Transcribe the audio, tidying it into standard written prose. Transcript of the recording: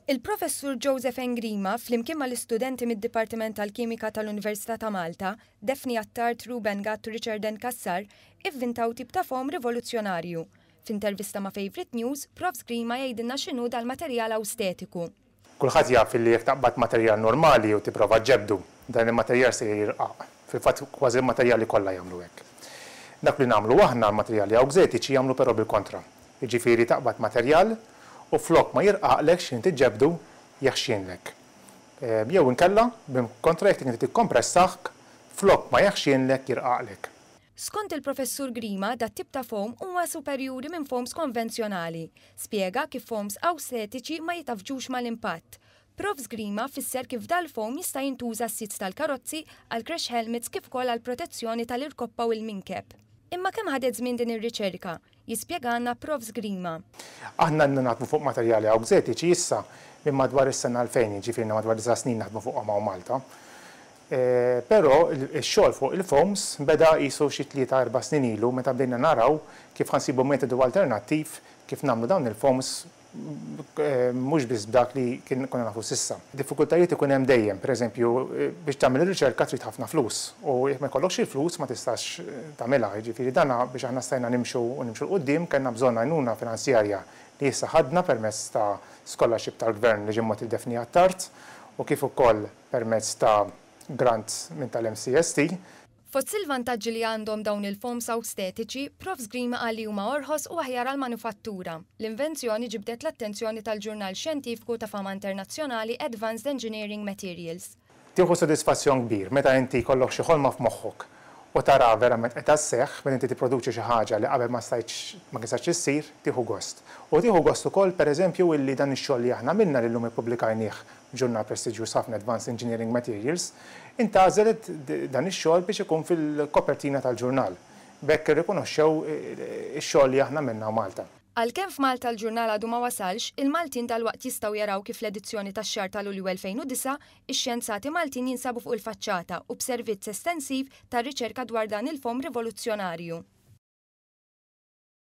Il-Professur Joseph Engrima, flimkien mal-istudenti mid-Dipartiment tal-Kimika tal-Università ta' Malta, Daphne Attard, Ruben Gatt u Richard N. Cassar, ivvintaw tip ta' foam rivoluzzjonarju. F'intervista ma' Favourite News, Profs Grima jgħidilna x'inhu dal-materjal awstetiku. Kulħadd jaf li jekk taqbad materjal normali u tipprova ġġebbdu, dan il-materjal se jirqaq. Fil-fatt kważi l-materjali kollha jagħmlu hekk. Dak li nagħmlu aħna, l-materjali awxetiċi jagħmlu però bil-kontra. Jiġifieri taqbad materjal u flok ma jirqaqlek x'ħin tiġġebbdu, jeħxienlek. Jew inkella, bil-kontra jekk inti tikkompressah, flok ma jeħxienlek jirqaqlek. Skont il-Professur Grima, dat-tip ta' foam huwa superjuri minn foams konvenzjonali. Spjega kif foams awstetiċi ma jitgħaffġux mal-impatt. Profs Grima fisser kif dal-foam jista' jintuża għas-seats tal-karozzi, għal crash helmets kif ukoll għall-protezzjoni tal-irkoppa u l-minkeb. Imma kemm ħadet żmien din ir-riċerka? Jispjegalna Profs Grima. Aħna ilna naħdmu fuq materjali awxetiċi issa minn madwar is-sena 2000, jiġifieri ilna madwar disa' snin naħdmu fuqhom hawn Malta. Però x-xogħol fuq il-foams beda qisu xi tlieta erba' snin ilu meta bdejna naraw kif ħa nsibu metodu alternattiv kif nagħmlu dawn il-foams mhux biss b'dak li kien konna nafu s'issa. Diffikultajiet ikun hemm dejjem, pereżempju biex tagħmel ir-riċerka trid ħafna flus u jekk ma jkollokx il-flus ma tistax tagħmilha, jiġifieri dan biex aħna stajna nimxu u nimxu 'l quddiem kellna bżonn għajnuna finanzjarja li issa ħadna permezz ta' scholarship tal-Gvern li ġie mogħti lil Daphne Attard u kif ukoll permezz ta' grant minn tal-MCST. Fost il-vantaġġi li għandhom dawn il-foams awstetiċi, Profs Grima qal li huma orħos u aħjar għall-manufattura. L-invenzjoni ġibdet l-attenzjoni tal-ġurnal xjentifiku ta' fama internazzjonali Advanced Engineering Materials. Tieħu sodisfazzjon kbir meta inti jkollok xi ħolma f'moħħok u taraha verament qiegħda sseħħ, meta inti tipproduċi xi ħaġa li qabel ma stajtx ma kistax issir, tieħu gost. U tieħu gost ukoll pereżempju illi dan ix-xogħol li aħna għamilna li llum ippubblikajnih f'ġurnal prestiġjuż ħafna Advanced Engineering Materials, intgħażel dan ix-xogħol biex ikun fil-kopertina tal-ġurnal. B'hekk irrikonoxxew ix-xogħol li aħna għamilna hawn Malta. Għalkemm f'Malta l-ġurnal għadu ma wasalx, il-Maltin dalwaqt jistgħu jaraw kif l-edizzjoni tax-xahar ta' Lulju 2009, ix-xjenzati Maltin jinsabu fuq il-faċċata u b'servizz estensiv ta' riċerka dwar dan il-foam rivoluzzjonarju.